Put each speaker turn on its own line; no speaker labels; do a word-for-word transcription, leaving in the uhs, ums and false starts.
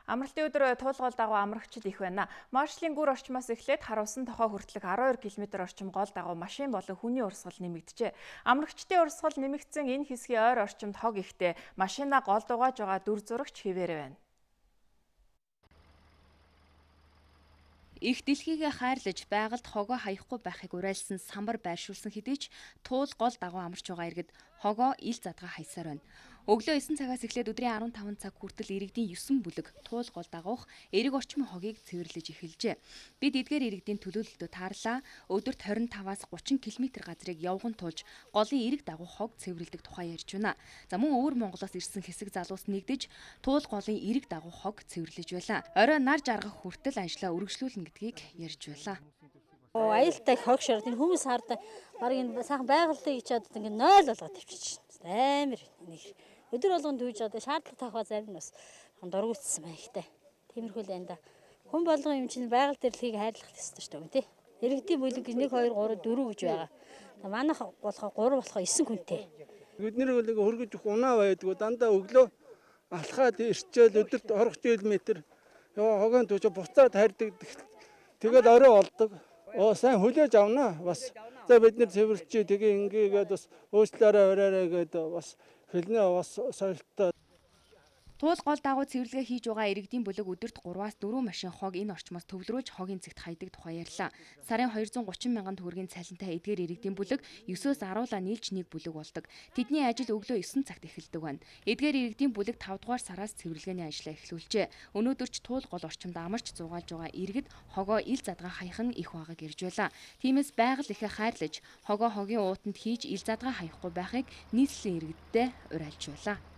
Амралтын өдөр туулгол дагуу амрагчид их байна. Маршлийн гүр орчмоос эхлээд харуулсан тохоо хүртэлх арван хоёр километр орчим гол дагуу машин болон хүний урсгал нэмэгджээ. Амрагчдын урсгал нэмэгдсэн энэ хэсгийн ойр орчимд хог ихтэй машина гол дугааж байгаа дүр зурагч хэвээр байна.
Их дэлхийгээ хайрлаж байгальд хогоо хаяхгүй байхыг уриалсан самбар байршуулсан хэдий ч туул гол дагуу амарч байгаа иргэд хогоо ил задгаа хайсаар байна. Өглөө эсен цагаас эхлээд өдрийн арван таван цаг хүртэл иргэдийн есөн бүлэг туул гол дагуух эрэг орчмын хогийг цэвэрлэж эхэлжээ. Бид эдгээр иргэдийн төлөөлөлтөд таарлаа. Өдөрт хорин таваас гучин километр газрыг явган тулж голын эрэг дагуух хог цэвэрлэдэг тухай ярьж байна. За мөн өвөр Монголоос ирсэн хэсэг залуус нэгдэж туул голын эрэг дагуух хог цэвэрлэж байлаа. Орой нар жаргах хүртэл ажлаа үргэлжлүүлнэ гэдгийг ярьж байлаа.
Аюултай хог шорд энэ хүмүүс хараад баг энэ сайхан байгальтыг ичээд ингэ нойл болгоод тавьчих чинь. Амар нэг өдөр болгонд дүүж одоо шаардлага тавих зарим нь бас дургуутсан байна ихтэй. Тиймэрхүү л энэ да. Хүн болгон юм чинь байгаль дэрлэхийг хайрлах ёстой шүү дээ тий. Иргэдийн бүлэг нэг хоёр гурав дөрөв гэж байгаа. Манайх болохоо гурав болохоо эсэн хүнтэй.
Бид нэр нэг хөргөж унаа байдгүй дандаа өглөө алхаад ирчээл өдөрт орох километр ёо хогийн төч буцаад харьдаг. Тэгээд орой олдог. Оо сайн хүлээж авнаа бас. За бид нэр цэвэрлчээ тэгээ ингээгээд бас өөчлөөрөө оройроо гэдэг бас хэлнэ бас соёлтой.
Туул гол дагуу цэвэрлэгээ хийж байгаа иргэдийн бүлэг өдөрт гураваас дөрвөн машин хог энэ орчмоос төвлөрүүлж хогийн цэгт хайдаг тухай ярьлаа. Сарын хоёр зуун гучин мянган төгрөгийн цалинтай эдгээр иргэдийн бүлэг есөөс аруулаа нийлж нэг бүлэг болдог. Тэдний ажил өглөө есөн цагт эхэлдэг байна. Эдгээр иргэдийн бүлэг тавд дугаар сараас цэвэрлэгээний ажлаа эхлүүлжээ. Өнөөдөр ч туул гол орчимд амарч зугаалж байгаа иргэд хогоо ил задгаа хаяхан их байгааг ирж байлаа. Тиймээс байгаль ихэ хайрлаж хогоо хогийн уутанд хийж ил задгаа хаяхгүй байхыг нийслэлийн иргэдтэй уриалж байлаа.